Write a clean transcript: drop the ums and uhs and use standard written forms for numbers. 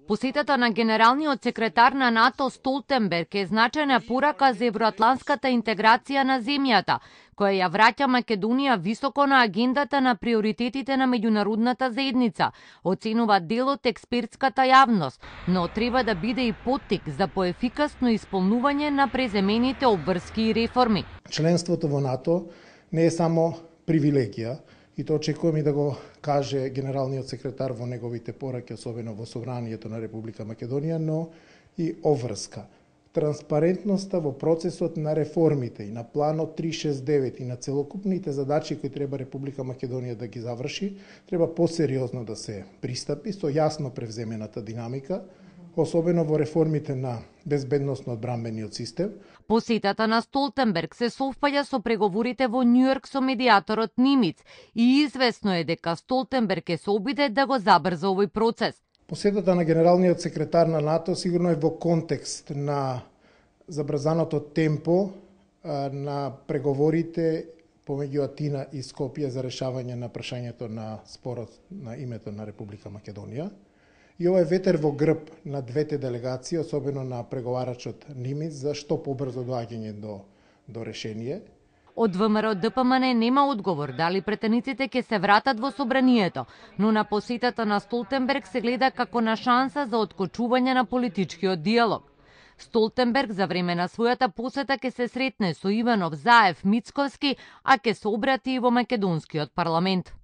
Посетата на генералниот секретар на НАТО Столтенберг е значајна порака за евроатлантската интеграција на земјата, која ја враќа Македонија високо на агендата на приоритетите на меѓународната заедница, оценува дел од експертската јавност, но треба да биде и поттик за поефикасно исполнување на преземените обврски и реформи. Членството во НАТО не е само привилегија, и тоа очекувам и да го каже генералниот секретар во неговите пораки, особено во собранието на Република Македонија, но и обврска. Транспарентноста во процесот на реформите и на планот 369 и на целокупните задачи кои треба Република Македонија да ги заврши, треба посериозно да се пристапи со јасно превземената динамика, особено во реформите на безбедносно-одбранбениот систем. Посетата на Столтенберг се совпаѓа со преговорите во Њујорк со медијаторот Нимиц и известно е дека Столтенберг се обиде да го забрза овој процес. Посетата на генералниот секретар на НАТО сигурно е во контекст на забрзаното темпо на преговорите помеѓу Атина и Скопје за решавање на прашањето на спорот на името на Република Македонија. И ова е ветер во грб на двете делегации, особено на преговарачот Нимиц, за што побрзо доаѓање до решение. Од ВМРО ДПМН нема одговор дали претениците ќе се вратат во собранието, но на посетата на Столтенберг се гледа како на шанса за откочување на политичкиот диалог. Столтенберг за време на својата посета ќе се сретне со Иванов, Заев, Мицковски, а ќе се обрати и во македонскиот парламент.